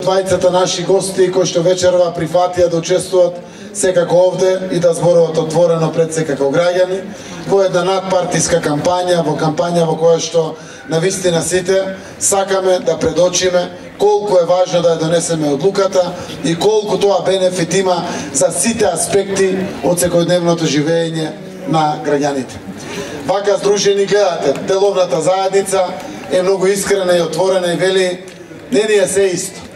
двајцата наши гости кои што вечерва прифатија да учествуваат секако овде и да зборуваат отворено пред секако граѓани во една надпартиска кампања, во која што навистина сите сакаме да предочиме колку е важно да ја донесеме одлуката и колку тоа бенефит има за сите аспекти од секојдневното живење на граѓаните. Вака здружени гледате, деловната заедница е многу искрена и отворена и вели не ни е се исто.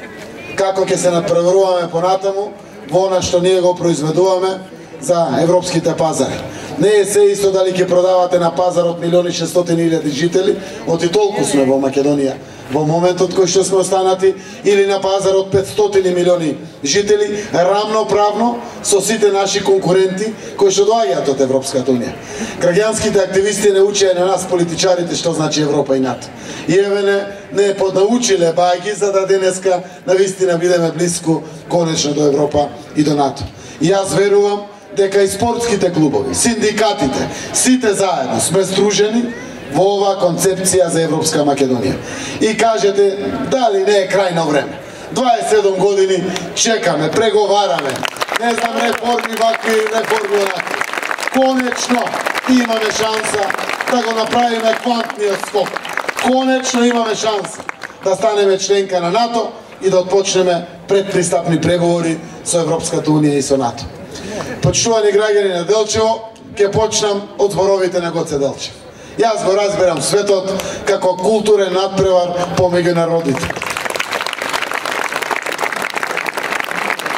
Како ќе се надпреваруваме понатаму во она што ние го произведуваме за европските пазари. Не е се исто дали ќе продавате на пазарот 1.600.000 жители, оти толку сме во Македонија во моментот кој што сме останати, или на пазарот 500 милиони жители, рамноправно со сите наши конкуренти кои што доаѓаат од Европската унија. Граѓанските активисти не учеа на нас политичарите што значи Европа и НАТО. И еве не поднаучиле бајки за да денеска навистина бидеме блиску конечно до Европа и до НАТО. И јас верувам дека и спортските клубови, синдикатите, сите заедно сме сдружени во оваа концепција за Европска Македонија. И кажете, дали не е крајно време? 27 години чекаме, преговараме, не знам, реформи вакви, реформи онакви. Конечно имаме шанса да го направиме квантниот скок. Конечно имаме шанса да станеме членка на НАТО и да отпочнеме предпристапни преговори со Европската Унија и со НАТО. Почитувани граѓани на Делчево, ќе почнам од зборовите на Гоце Делчев. Јас го разбирам светот како културен надпревар помеѓу народите.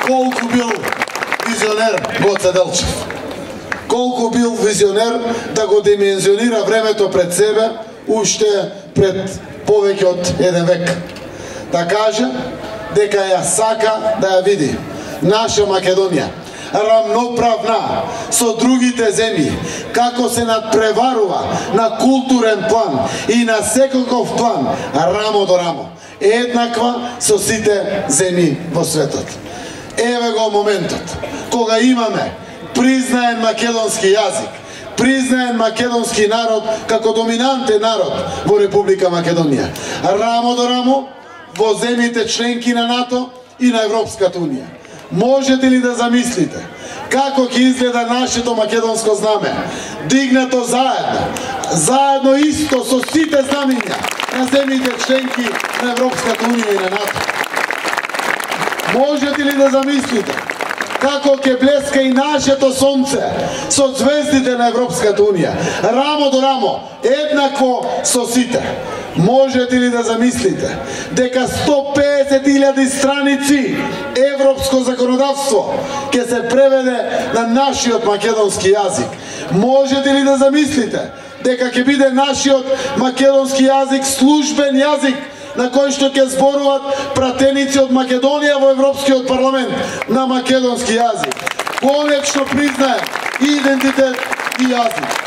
Колку бил визионер Гоце Делчев. Колку бил визионер да го димензионира времето пред себе, уште пред повеќе од еден век. Да каже дека ја сака да ја види наша Македонија рамноправна со другите земји, како се надпреварува на културен план и на секаков план, рамо до рамо, еднаква со сите земји во светот. Еве го моментот кога имаме признаен македонски јазик, признаен македонски народ како доминантен народ во Република Македонија, рамо до рамо во земјите членки на НАТО и на Европската Унија. Можете ли да замислите како ќе изгледа нашето македонско знаме, дигнато заедно исто со сите знамења на земјите членки на Европската Унија и на НАТО? Можете ли да замислите како ќе блеска и нашето сонце со звездите на Европската Унија, рамо до рамо, еднакво со сите? Можете ли да замислите дека 150.000 страници европско законодавство ќе се преведе на нашиот македонски јазик? Можете ли да замислите дека ќе биде нашиот македонски јазик службен јазик на кој што ќе зборуваат пратеници од Македонија во Европскиот парламент на македонски јазик? Конечно признае идентитет и јазик.